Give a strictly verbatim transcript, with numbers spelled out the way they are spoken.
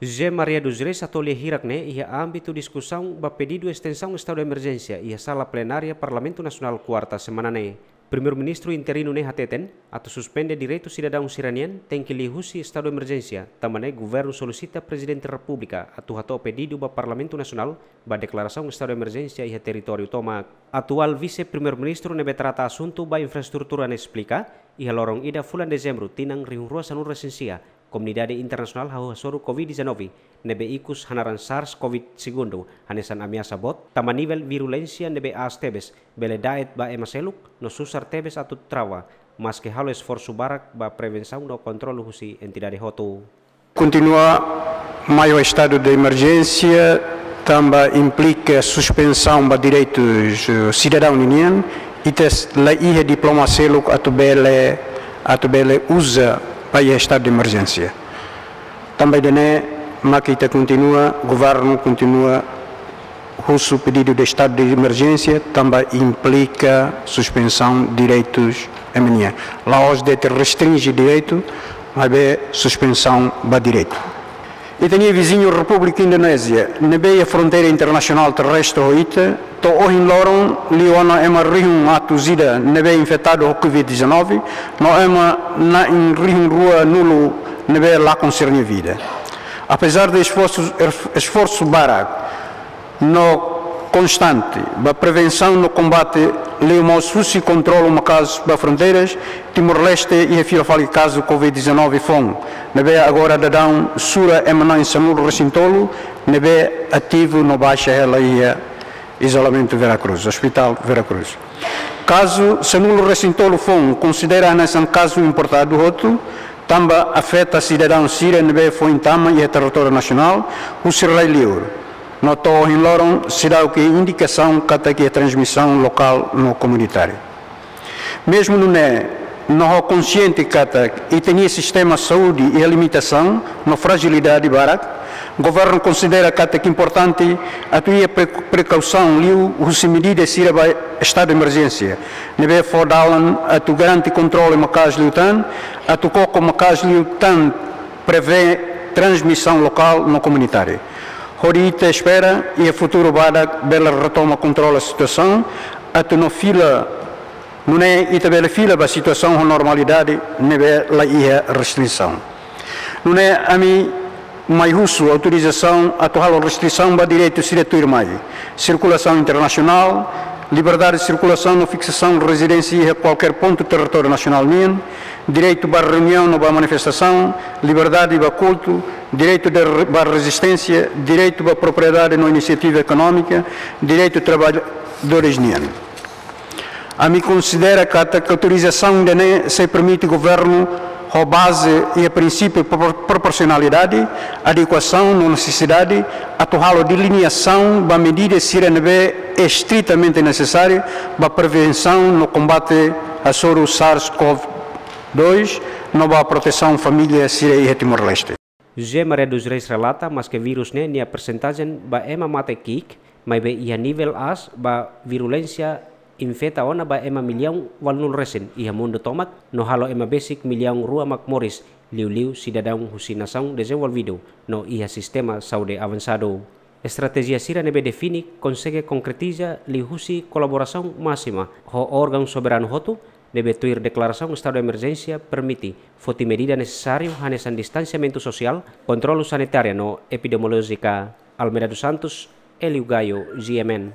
José Maria dos Reis hato'o lia hirak ne'e iha ámbitu diskusaun ba pedidu estensaun estadu de emerjénsia iha sala plenária Parlamentu Nasionál kuarta semana ne'e. Primeiru-Ministru interinu ne'e hateten, atu suspende direitu sidadaun sira-nian tenke liuhusi estadu de emerjénsia, tanba ne'e governu solisita Prezidente Repúblika atu hato'o pedidu ba Parlamentu Nasionál ba deklarasaun estadu de emerjénsia iha territóriu tomak. Atuál Vise-Primeiru-Ministru ne'ebé trata asuntu ba infraestrutura ne'e esplika, iha loron ida fulan Dezembru tinan rihun rua sanulu resin sia, komunidade internasionál hahú hasoru covid dezanove, ne'ebé ikus hanaran SARS-CoV segundu, hanesan ameasa boot, tanba nivel virulénsia ne'ebé aas tebes, bele da'et ba ema seluk, no susar tebes atu trava, maske halo esforsu barak ba prevensaun no kontrolu husi entidade hotu. Kontinua mai ho estadu de emerjénsia, tanba implika suspensaun ba direitus, eh, sidadaun ninian, i tes la iha diploma seluk atu bele, atu bele uza ba iha estadu de emerjénsia. Tanba ida-ne'e, mak ita kontinua, governu kontinua husu pedidu de estadu de emerjénsia, tanba implika suspensaun direitus ema nian. La'ós de'it restrinje direitu, maibé suspensaun ba direitu. Ita-nia viziñu Repúblika Indonézia, ne'ebé iha fronteira internasionál terrestre ho ita, to'o ohin loron liu ona ema rihun atus ida ne'ebé infetadu ho covid dezanove, no ema na'in rihun rua nulu ne'ebé lakon sira-nia vida. Apezar de esforsu, esforsu barak no konstante ba prevensaun no kombate, liu mós husi kontrolu maka'as ba fronteiras, Timor-Leste iha fila fali kazu covid dezanove foun, ne'ebé agora daudaun sura ema na'in sanulu resin tolu ne'ebé ativu no baixa hela iha izolamentu Vera Cruz, Hospital Vera Cruz. Kazu sanulu resin tolu foun konsidera hanesan kazu importadu hotu, tanba afeta sidadaun sira ne'ebé foin tama iha territóriu nasionál husi rai-liur. No to'o ohin loron seidauk iha indikasaun katak iha transmisaun lokál no komunitária. Mezmu nune'e, no ho konsiente katak ita-nia sistema saúde iha limitasaun no frajilidade barak, governu konsidera katak importante atu iha pre-, prekausaun liuhusi medida sira ba estadu de emerjénsia, ne'ebé fó dalan atu garante kontrolu maka'as liután, atu koko maka'as liután prevee transmisaun lokál no komunitária. Hodi ita espera iha futuru badak bele retoma kontrola situasaun, atu no fila, nune'e ita bele fila ba situasaun ho normalidade ne'ebé la iha restrisaun. Nune'e ami mai husu autorizasaun atu halo restrisaun ba direitu sira tuirmai: sirkulasaun internasionál, liberdade de sirkulasaun no fiksasaun rezidénsia iha kualkér pontu territóriu nasionál nian, direitu ba reuniaun no ba manifestasaun, liberdade ba kultu, direitu de re-, ba rezisténsia, direitu ba propriedade no inisiativa ekonómika, direitu traballadores nian. Ami konsidera katak autorizasaun ida-ne'e sei permite governu, ho baze iha prinsípiu propor-, proporsionalidade, adekuasaun no nesesidade, atu halo delimiasaun ba medida sira ne'ebé estritamente nesesáriu ba prevensaun no kombate hasoru SARS-CoV dois, no ba protesaun família sira iha Timor-Leste. José Maria dos Reis relata, maske vírus ne'e nia persentajen ba ema mate ki'ik, maibé iha nivel aas ba virulénsia, infeta ona ba ema millaun ualunulu resin iha mundu tomak, no halo ema besik millaun rua mak moris, liuliu sidadaun husi nasaun dezenvolvidu no iha sistema saúde avansadu. Estratéjia sira ne'ebé define konsege konkretiza liuhusi kolaborasaun másima ho órgaun soberanu hotu, ne'ebé tuir deklarasaun estadu de emerjénsia permite foti medida nesesáriu hanesan distansiamentu sosiál, kontrolu sanitária no epidemiolójika. Almeida dos Santos, Hélio Gaio, G M N.